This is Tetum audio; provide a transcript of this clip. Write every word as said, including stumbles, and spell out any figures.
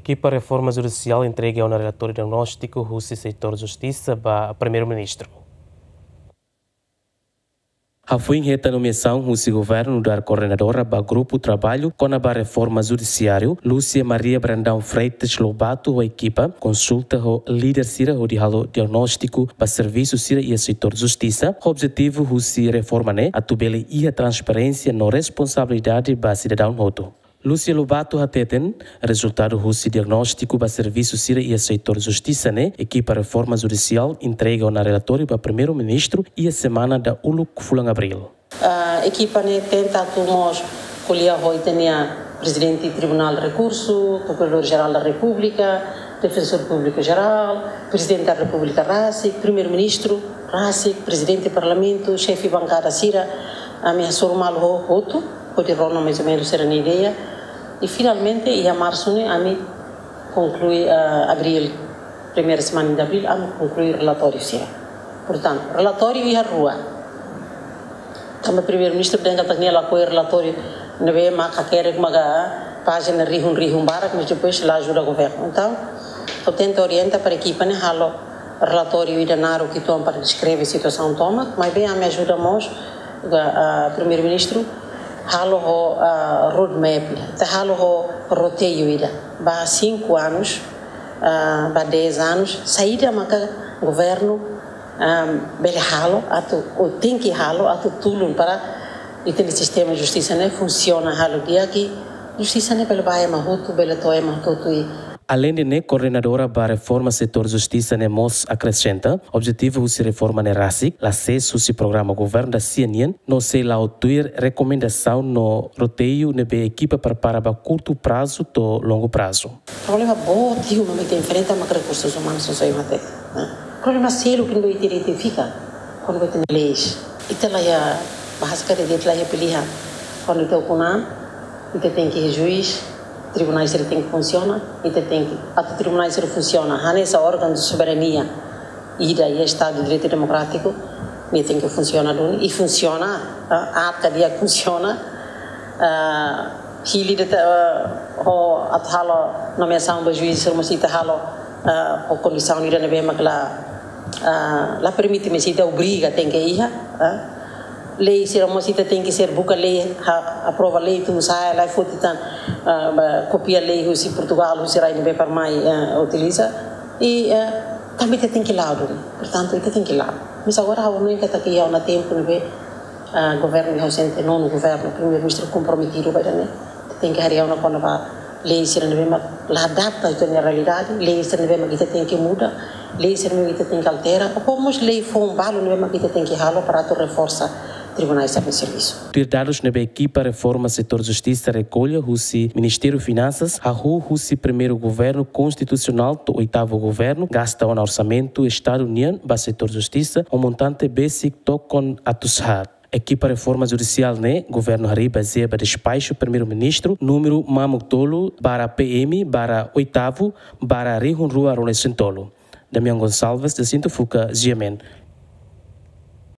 Ekipa Reforma Judisiál entrega ona relatóriu diagnóstiku husi setór justisa ba Primeiru-Ministru. Hafoin hetan nomeasaun husi governu nu'udar koordenadora ba grupu traballu kona-ba reforma judisiáriu, Lúcia Maria Brandão Freitas Lobato ho ekipa konsulta ho líder sira hodi halo diagnóstiku ba servisu sira iha setór justisa, ho objetivu husi reforma ne'e atu bele iha transparénsia no responsabilidade ba sidadaun hotu. Lúcia Lobato hateten, rezultadu husi diagnóstiku ba servisu sira iha setór justisa ne'e, ekipa reforma judisiál entrega ona relatóriu ba Primeiru-Ministru iha semana dauluk fulan Abríl. Ah, ekipa ne'e tenta atu mós ko'alia ho ita-nia Prezidente Tribunál Rekursu, Prokuradór Jerál da Repúblika, Defensór Públiku Jerál, Prezidente da Repúblika rasik, Primeiru-Ministru rasik, Prezidente Parlamentu, xefe bankada sira, ami hasoru malu ho hotu, hodi rona mais ou menos sira-nia ideia. I finalmente, iha marsu ne'e, ami konklui, ah, abríl, primeira semana de abríl, ami konklui relatóriu sira. Portantu, relatóriu iha rua. Tanba Primeiru-Ministru dehan katak nia lakohi relatóriu ne'ebé mak hakerek maka pájina rihun-rihun barak, mas depois la ajuda governu. Entaun, ha'u tenta orienta para ekipa ne'e halo relatóriu ida naruk uitoan para deskreve situasaun tomak, maibé ami ajuda mós, ah, Primeiru-Ministru halo ho, ah, roadmap ida, ita halo ho roteiru ida ba cinco anos, ah, ba dez anos, saida maka governu, ah, bele halo atu, ou tenke halo atu tulun para ita-nia sistema justisa ne'e funsiona halo di'ak, i justisa ne'e bele ba ema hotu, bela to'o ema hotu i. Aleinde ne'e, koordenadora ba reforma setór justisa ne'e mós akresenta, objetivu husi reforma ne'e rasik, la sees husi programa governu da-sia nian, no sei la'o tuir rekomendasaun no roteiru ne'ebé ekipa prepara ba kurtu prazu to'o longu prazu. Problema boot ida mak ita enfrenta mak rekursus umanus, só ema hatete, né? Problema seluk ne'ebé ita identifika, kuandu ita-nia leis. Ita la iha, bahasa ka de'it, ita la iha pilihan. Kuandu ita ukun an, ita tenke iha juís, tribunais sira tenke funsiona, ita tenke, atu tribunais sira funsiona, hanesan órgaun de soberania ida iha Estadu de Direitu Demokrátiku, nia tenke funsiona duni, i funsiona, ah, aat ka di'ak funsiona, ah, hili de'it, ah, ho atu halo nomeasaun ba juís sira mós ita halo, ah, ho kondisaun ida ne'ebé mak la, ah, la permite, mas ita obriga tenke iha, ah. Lei sira mós ita tenke ser buka lei, ha, aprova lei, tun sa'e, la foti tan, ah, ba, kopia lei husi Portugal, husi rai ne'ebé para mai, ah, utiliza. I, ah, tanba ita tenke la'o duni. Portantu, ita tenke la'o. Mas agora ha'u hanoin katak iha ona tempu ne'ebé, ah, governu iha ausente, nonu governu, Primeiru-Ministru komprometidu ba ida-ne'e. Ita tenke haree ona kona-ba lei sira ne'ebé mak la adapta ho ita-nia realidade, lei sira ne'ebé mak ita tenke muda, lei sira ne'ebé ita tenke altera, ou mós lei foun balu ne'ebé mak ita tenke halo para atu reforsa tribunais sira-nia servisu. Tuir dadus ne'ebé ekipa reforma setór justisa rekolla husi Ministériu Finansas, hahú husi primeiru governu konstitusionál to'o oitavu governu, gasta ona orsamentu Estadu nian ba setór justisa ho montante besik tokon atus haat. Ekipa reforma judisiál ne'e governu harii bazeia ba despaxu Primeiru-Ministru númeru mamuk tolu barra P M barra oitavu barra rihun rua ruanulu-resin-tolu. Damião Gonçalves, Jacinto Fuca, G M N.